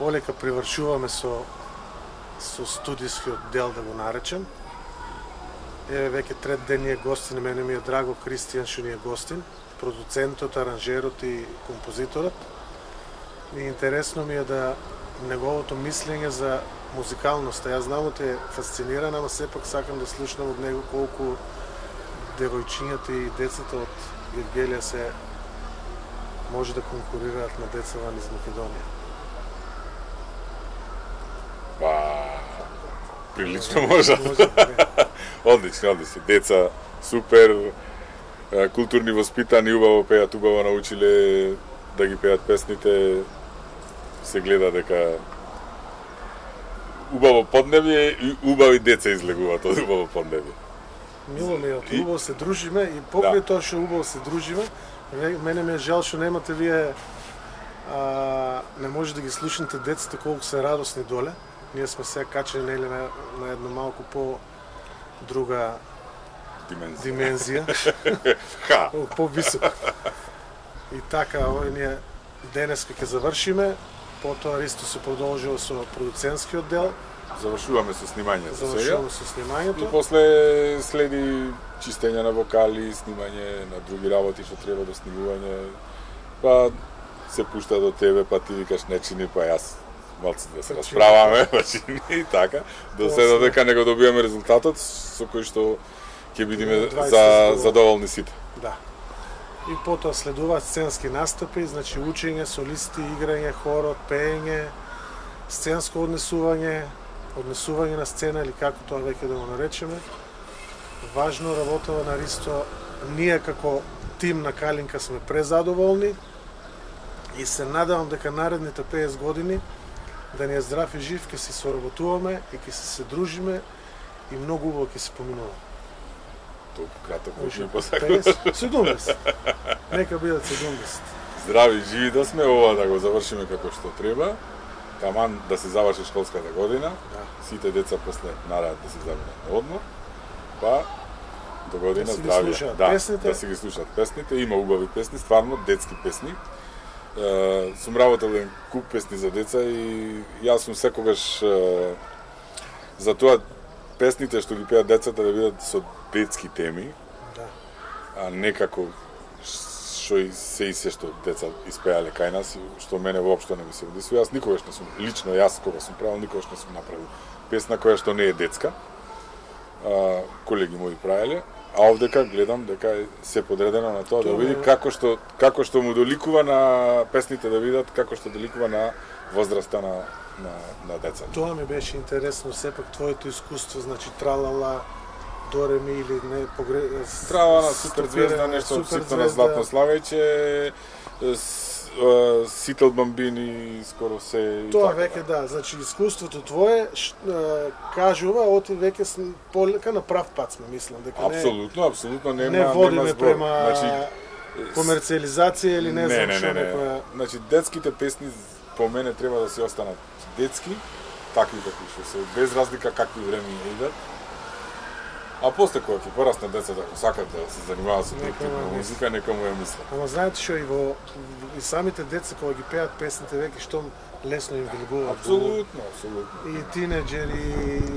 полека привршуваме со студискиот дел, да го наречем. Еве веќе трет ден ни е гостин, мене ми е драго Кристијан што ни е гостин, продуцентот, аранжерот и композиторот. И интересно ми е да неговото мислење за музикалноста. Јас знам да е фасциниран, ама сепак сакам да слушнам од него колку девојчињата и децата од Гевгелија се може да конкурираат на деца ван из Македонија. Прилично може. Одлично. Деца супер, културни, воспитани, убаво пеат, убаво научиле да ги пеат песните. Се гледа дека убаво поднебје и убави деца излегуваат од убаво поднебје. Мило ми е, убаво се дружиме и покрај тоа што убаво се дружиме, мене ми е жал што немате вие, не може да ги слушнете децата колку се радосни доле. Ние сме сега качени на една малку по-друга димензија. По-високо. И така, овој ние денеска ќе завршиме, потоа Ристо се продолжува со продуцентскиот дел. Завршуваме со снимањето. И после следи чистење на вокали, снимање на други работи што треба до снимување. Па се пушта до тебе, па ти викаш не чини, па јас малце да се расправаме, па чини и така. До сега дека не го добиваме резултатот со кој што ќе бидеме задоволни сите. Да. И потоа следуваат сценски настапи, значи учење, солисти, играње, хорот, пеење, сценско однесување на сцена или како тоа веќе да го наречеме. Важно работава на Ристо, ние како тим на Калинка сме презадоволни и се надевам дека наредните 50 години да ни е здрав и жив, ќе се соработуваме и ќе се дружиме и многу убаво ќе се поминуваме. Толку краток ми посакуваш. 70. Нека бидат 70. Здрави, живи да сме, ова да го завршиме како што треба. Таман да се заврши школската година. Сите деца после нараат да се заминат на одмор. Па до година здрави. Да се ги слушаат песните. Има убави песни, стварно детски песни. Сум работел еден куп песни за деца и јас сум секогаш за тоа песните што ги пеат децата да бидат со детски теми, а не како што и се што деца испеале кај нас, што мене воопшто не ми се одисува. Јас никогаш не сум, лично јас кога сум правил, никогаш не сум направил песна која што не е детска. Колеги мои правеле, а овдека гледам дека се подредено на тоа да види како што му доликува на песните да видат, како што доликува на возраста на деца. Тоа ми беше интересно, сепак твоето искуство, значи тралала, Дореми или не Тралала, супер звезда, нешто од ситно на Златно Славејче, Сител Бамбини, скоро се. Тоа веќе да, значи искуството твое кажува, оти веќе полека на прав пат сме, мислам дека апсолутно нема. Не водиме према комерцијализација или не знам што некоја. Значи детските песни по мене треба да се останат детски, такви какви што се, без разлика какви време идат. А после кога ќе пораснат децата, ако сакат да се занимаваат со типна музика, нека му ја мислат. Ама знаете што и самите деца кога ги пеат песните веќе што лесно им влегуваат. Апсолутно. И тинеџери,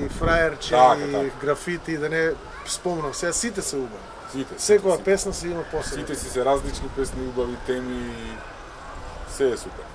и фраерче, и графити, да не спомнам. Сега сите се убави. Секоја песна си има посебна. Сите си се различни песни, убави теми, се е супер.